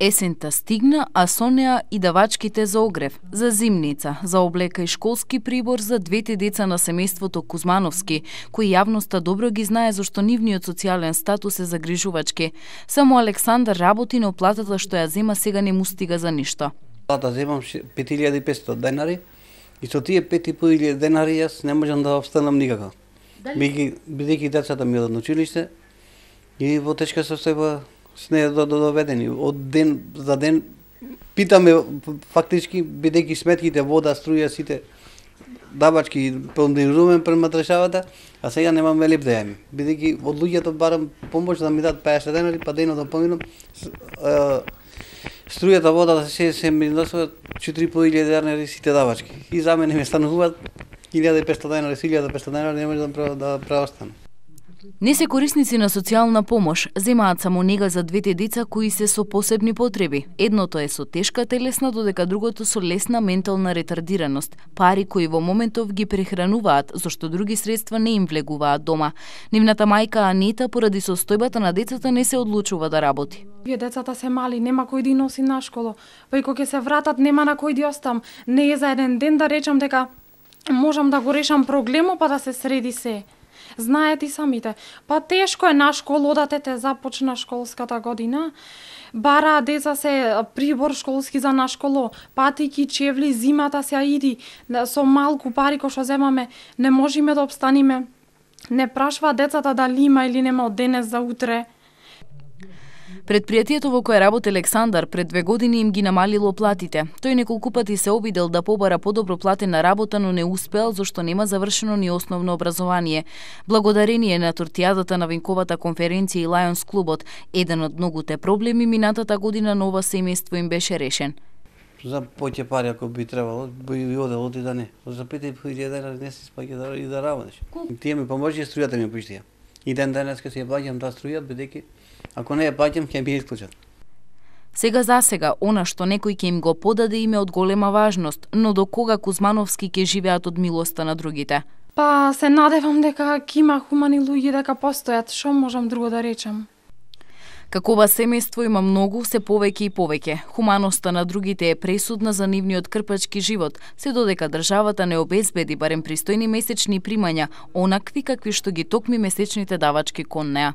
Есента стигна, а со неа и давачките за огрев, за зимница, за облека и школски прибор за двете деца на семејството Кузмановски, кои јавноста добро ги знае зашто нивниот социјален статус е загрижувачки. Само Александар работи, но платата што ја зема сега не му стига за ништо. Плата земам 5500 денари и со тие 5500 денари јас не можам да обстанам никако. Бидејќи децата ми одат на училиште и во тешка состојба сме доведени. Од ден за ден питаме фактички, бидејќи сметките, вода, струја, сите давачки понизуваме према државата, а сега немаме леп да јаме. Бидејќи од луѓето барам помош да ми дадат 50 денари, па денот да поминам. Струјата, водата се ми носуваат 4500 денари сите давачки. И за мене ми стануваат 1500 денари, 1500 денари, не може да преостане. Не се корисници на социјална помош, земаат само нега за двете деца кои се со посебни потреби. Едното е со тешка телесна, додека другото со лесна ментална ретардираност. Пари кои во моментов ги прехрануваат, зашто други средства не им влегуваат дома. Нивната мајка Анита поради состојбата на децата не се одлучува да работи. Вие децата се мали, нема кој да носи на школа. Па и кога ќе се вратат, нема на кој да остам. Не е за еден ден да речам дека можам да го решам проблемот па да се среди се. Знаете и самите, па тешко е на школа, одатете започна школската година, бара деца се прибор школски за на школо, патики, чевли, зимата се иди, со малку пари кој што земаме, не можеме да обстаниме, не прашва децата дали има или нема од денес за утре. Предпријатието во кое работи Александар пред 2 години им ги намалило платите. Тој неколку пати се обидел да побара подобро платена работа, но не успеал зашто нема завршено ни основно образование. Благодарение на тортијадата на винковата конференција и Лајонс клубот, еден од многуте проблеми минатата година на ова семејство им беше решен. За поќе пари ако би требало, би одел оди да не. За 5000 денари не се спаѓа и да работиш. Тие ми поможи, струјата ми поиштија. И ден денеска си ја плаќам таа струја, бидејќи ако не ја плаќам, ќе би исклучат. Сега за сега, она што некој ќе им го подаде им е од голема важност, но до кога Кузмановски ќе живеат од милоста на другите? Па се надевам дека ќе има хумани луѓе дека постојат, што можам друго да речам. Како ова семејство има многу, се повеќе и повеќе. Хуманоста на другите е пресудна за нивниот крпачки живот, се додека државата не обезбеди барем пристојни месечни примања, онакви какви што ги токми месечните давачки кон неа.